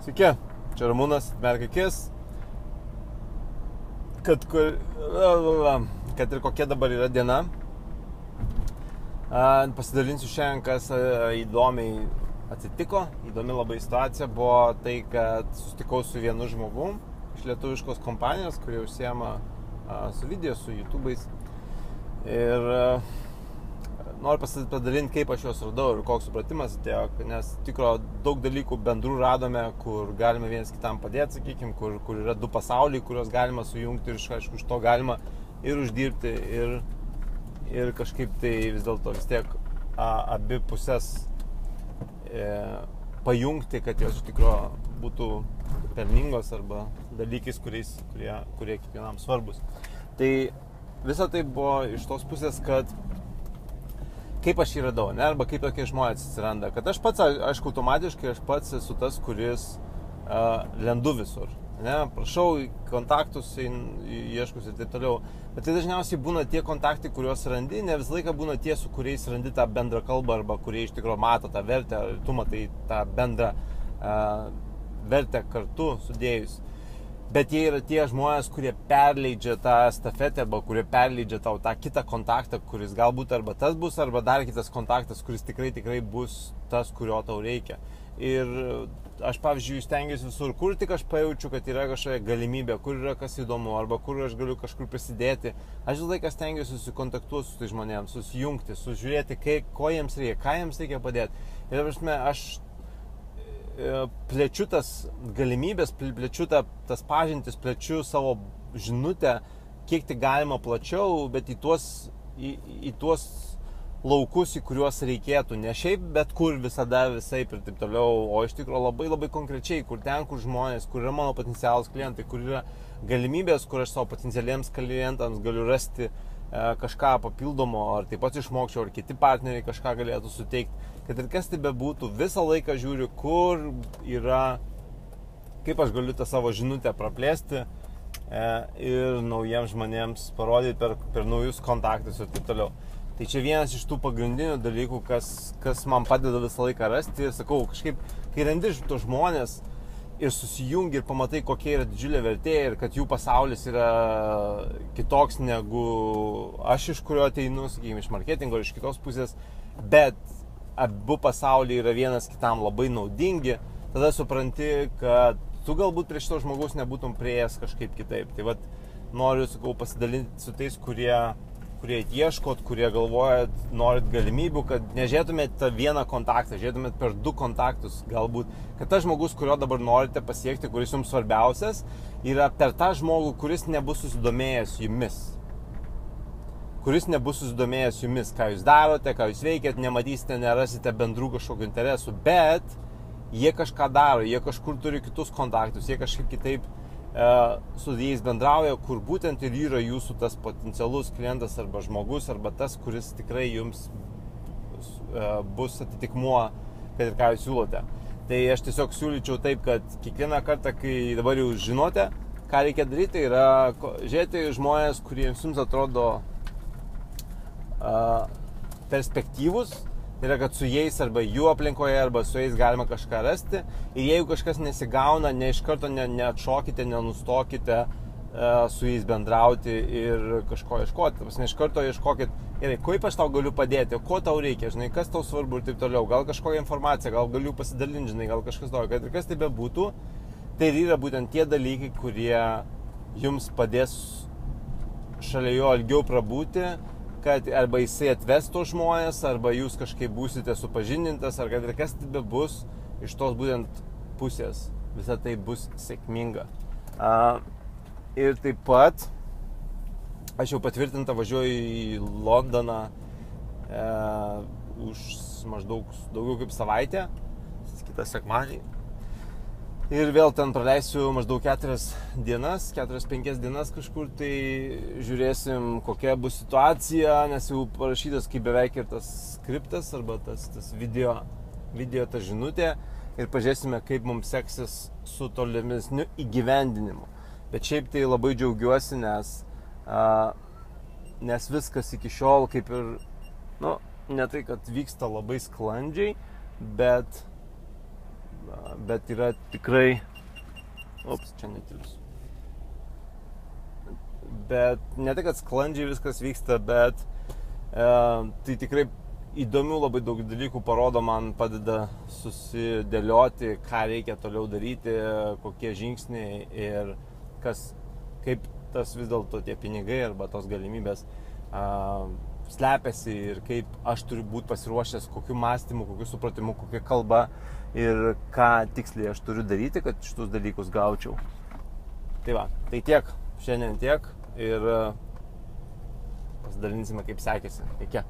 Sveiki, čia Ramūnas, merk akis, kad ir kokia dabar yra diena. Pasidalinsiu šiandien, kas įdomiai atsitiko, įdomi labai situacija buvo tai, kad susitikau su vienu žmogum iš lietuviškos kompanijos, kurie užsiema su video, su YouTube'ais. Ir noriu pasidalinti, kaip aš juos radau ir koks supratimas atėjo, nes tikro daug dalykų bendrų radome, kur galime vienas kitam padėti, sakykime, kur yra du pasauliai, kuriuos galima sujungti ir aišku, iš to galima ir uždirbti, ir kažkaip tai vis dėlto vis tiek abi pusės pajungti, kad jos iš tikro būtų pelningos arba dalykais, kurie kiekvienam svarbus. Tai visa tai buvo iš tos pusės, kad kaip aš jį radau, ne? Arba kaip tokie žmonės atsiranda. Kad aš pats, aišku, automatiškai aš pats esu tas, kuris lendu visur. Ne? Prašau kontaktus, ieškus ir taip toliau. Bet tai dažniausiai būna tie kontaktai, kuriuos randi, ne visą laiką būna tie, su kuriais randi tą bendrą kalbą arba kurie iš tikrųjų mato tą vertę, tu matai tą bendrą vertę kartu sudėjus. Bet jie yra tie žmonės, kurie perleidžia tą stafetę arba kurie perleidžia tau tą kitą kontaktą, kuris galbūt arba tas bus, arba dar kitas kontaktas, kuris tikrai bus tas, kurio tau reikia. Ir aš, pavyzdžiui, stengiuosi visur, kur tik aš pajaučiu, kad yra kažkokia galimybė, kur yra kas įdomu, arba kur aš galiu kažkur prisidėti. Aš visą laiką stengiuosi susikontaktuoti su tai žmonėms, susijungti, sužiūrėti, ko jiems reikia, ką jiems reikia padėti. Ir aš plečiu tas galimybės, plečiu tas pažintis, plečiu savo žinutę, kiek tik galima plačiau, bet į tuos laukus, į kuriuos reikėtų, ne šiaip, bet kur visada visaip ir taip toliau, o iš tikrųjų labai konkrečiai, kur žmonės, kur yra mano potencialus klientai, kur yra galimybės, kur aš savo potencialiems klientams galiu rasti kažką papildomo, ar taip pat išmokčiau, ar kiti partneriai kažką galėtų suteikti. Kad ir kas tai bebūtų, visą laiką žiūriu, kur yra, kaip aš galiu tą savo žinutę praplėsti ir naujiems žmonėms parodyti per naujus kontaktus ir taip toliau. Tai čia vienas iš tų pagrindinių dalykų, kas man padeda visą laiką rasti. Ir sakau, kažkaip, kai randi tos žmonės ir susijungi ir pamatai, kokia yra didžiulė vertė ir kad jų pasaulis yra kitoks negu aš, iš kurio ateinu, sakykime, iš marketingo, iš kitos pusės, bet abu pasauliai yra vienas kitam labai naudingi, tada supranti, kad tu galbūt prie šito žmogaus nebūtum prieėjęs kažkaip kitaip. Tai vat noriu, sakau, pasidalinti su tais, kurie ieškot, kurie galvojat, norit galimybių, kad nežiūrėtumėt tą vieną kontaktą, žiūrėtumėt per du kontaktus galbūt, kad tas žmogus, kurio dabar norite pasiekti, kuris jums svarbiausias, yra per tą žmogų, kuris nebus susidomėjęs jumis. Ką jūs darote, ką jūs veikiat, nematysite, nerasite bendrų kažkokių interesų, bet jie kažką daro, jie kažkur turi kitus kontaktus, jie kažkaip kitaip su jais bendrauja, kur būtent ir yra jūsų tas potencialus klientas arba žmogus, arba tas, kuris tikrai jums bus atitikmuo, kad ir ką jūs siūlote. Tai aš tiesiog siūlyčiau taip, kad kiekvieną kartą, kai dabar jau žinote, ką reikia daryti, tai yra žiūrėti žmonės, kurie jums atrodo perspektyvus, tai yra, kad su jais arba jų aplinkoje, arba su jais galima kažką rasti. Ir jeigu kažkas nesigauna, ne iš karto neatšokite, nenustokite su jais bendrauti ir kažko ieškoti. Iš karto ieškokit, gerai, kaip aš tau galiu padėti, ko tau reikia, žinai, kas tau svarbu ir taip toliau. Gal kažkokią informaciją, gal galiu pasidalinti, žinai, gal kažkas tau, kad ir kas tai bebūtų, tai yra būtent tie dalykai, kurie jums padės šalia jo ilgiau prabūti, kad arba jisai atves tos žmonės, arba jūs kažkaip būsite supažindintas, ar kad ir kas tai bebus, iš tos būtent pusės visa tai bus sėkminga. Ir taip pat aš jau patvirtinta važiuoju į Londoną už maždaug daugiau kaip savaitę, kitą sekmadienį. Ir vėl ten praleisiu maždaug 4-5 dienas kažkur, tai žiūrėsim, kokia bus situacija, nes jau parašytas kaip beveik ir tas skriptas arba tas video ta žinutė ir pažiūrėsime, kaip mums seksis su tolimesniu įgyvendinimu. Bet šiaip tai labai džiaugiuosi, nes viskas iki šiol kaip ir, ne tai, kad vyksta labai sklandžiai, bet bet yra tikrai, čia netilsiu. Bet ne tai, kad sklandžiai viskas vyksta, bet tai tikrai įdomių labai daug dalykų parodo, man padeda susidėlioti, ką reikia toliau daryti, kokie žingsniai ir kaip tas vis dėlto tie pinigai arba tos galimybės slepiasi ir kaip aš turiu būti pasiruošęs, kokiu mąstymu, kokiu supratimu, kokia kalba ir ką tiksliai aš turiu daryti, kad šitus dalykus gaučiau. Tai va, tai tiek, šiandien tiek ir pasidalinsime, kaip sekėsi. Iki.